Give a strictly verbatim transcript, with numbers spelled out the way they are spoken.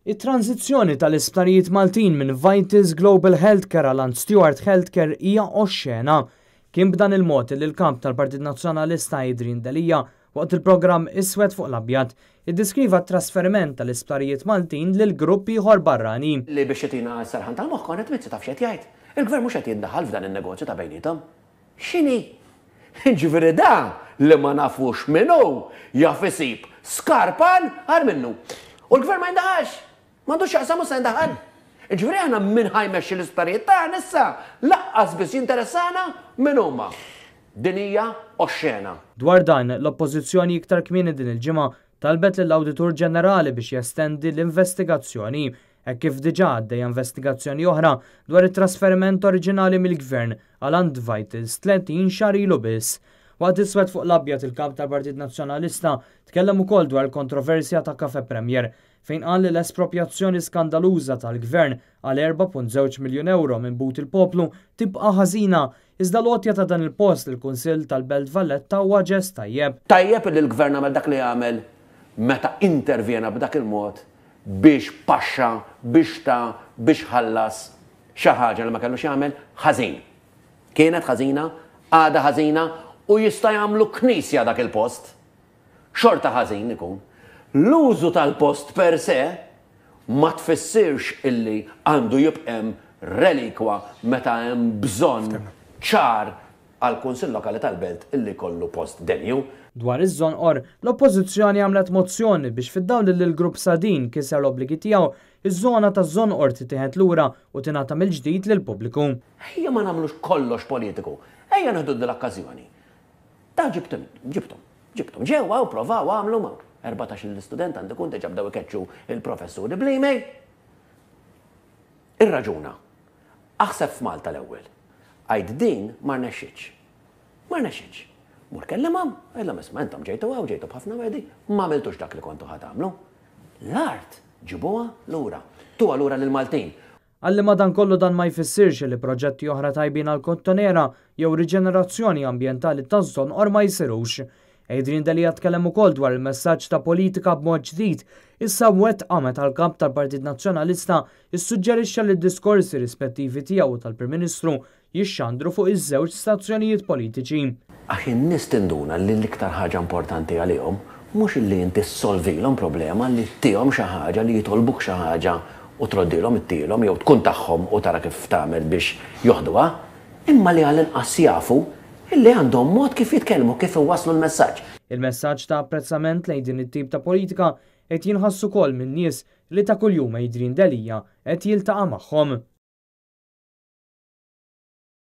It-tranżizzjoni tal-isptarijiet Maltin minn Vitals Global Healthcare għal Steward Healthcare hija oxxena. Kien b'dan il-mod li l-kap tal-Partit Nazzjonalista Adrian Delia, waqt il-programm Iswed fuq l-Abjad, iddeskriva t-trasferiment tal-isptarijiet Maltin lil grupp ieħor barrani. Li biex jtina s-serħan tal-moħħ, Konrad Mizzi taf x'qed jgħid. Il-gvern mhux qed jindaħal f'dan in-negozju ta' bejnietom. X'inhi? Ġifieri da li ma nafux minnu jaf isib skarpan għar minnu. U l-gvern ma jindaħalx. M'għandux x'jaqsam u se jindaħal. Ġifieri aħna min ħa jmexxi l-isptarijiet tagħna issa lanqas biss jinteressana min huma. Din hija oxxena. Dwar dan, l-Oppożizzjoni iktar kmieni din il-ġimgħa talbet lill-Awditur Ġenerali biex jestendi l-investigazzjoni, hekk kif diġà għaddejja investigazzjoni oħra dwar it-trasferiment oriġinali mill-Gvern għal għand Vitals tletin xahar ilu biss. Waqt Iswed fuq l-Abjad, il-kap tal-Partit Nazzjonalista tkellem ukoll dwar il-kontroversja ta' Cafe Premier, fejn qal li l-espropjazzjoni skandaluża tal-Gvern għal erbgħa punt żewġ miljun euro minn but il-poplu tibqa' ħażina, iżda l-għotja ta' dan il-post il-Kunsill tal-Belt Valletta huwa ġest tajjeb. Tajjeb li l-gvern għamel dak li għamel meta intervjena b'dak il-mod biex paxxa, biex ta' biex ħallas xi ħaġa li ma kellux jagħmel, ħażin. Kienet ħażina, għada ħażina u jista' jagħmlu knisja dak il-post. Xorta ħażin ikun. L-użu tal-post per se ma tfissirx illi għandu jibqem relikwa meta hemm bżonn ċar għal Kunsill Lokali tal-Belt illi kollu post denju. Dwar iż-Żonqor, l-Oppożizzjoni għamlet mozzjoni biex, fid-dawl li l-grupp Sadeen kiser l-obbligi tiegħu, iż-żona taż-Żonqor titieħed lura u tingħata mill-ġdid lill-pubbliku. Ejja ma nagħmlux kollox politiku. Ejja nieħdu l-okkażjoni. Ta' ġibtum, ġibtum, ġibtum. Ġewwa u provaw għamlu ma. erbatax l-istudent għandu kun diġà bdew ikeċċu il-professuri bl-email. Irraġuna. Aħseb f'Malta l-ewwel. Għid din ma rnexxitx. Ma rnexxitx. Mur kellimhom, għidilhom: "Isma', intom ġejtu hawn, ġejtu b'ħafna wegħdi, ma għamiltux dak li kontu ħa tagħmlu. L-art ġibuha lura. Tuha lura lill-Maltin." Għalli madankollu dan ma jfissirx li proġetti oħra tajbin għal Kottonera jew riġenerazzjoni ambjentali taż-Żonqor ma jsirux. Adrian Delia tkellem ukoll dwar il-messaġġ ta' politika b'mod ġdid issa mwettqa meta l-kap tal-Partit Nazzjonalista issuġġerixxa li d-diskorsi rispettivi tiegħu tal-Prim Ministru jixxandru fuq iż-żewġ stazzjonijiet politiċi. Għax in-nies tinduna li l-iktar ħaġa importanti għalihom mhux illi inti ssolvilhom problema, li ttihom xi ħaġa, li jitolbuk xi ħaġa u troddilhom ittilhom jew tkun tagħhom u tara kif tagħmel biex joħduha, imma li għall-inqas jafu illi għandhom mod kif jitkellmu, kif iwasslu l-messaġġ. Il-messaġġ ta' apprezzament lejn din it-tip ta' politika qed jinħass ukoll minn nies li ta' kuljum Adrian Delia qed jiltaqa' magħhom.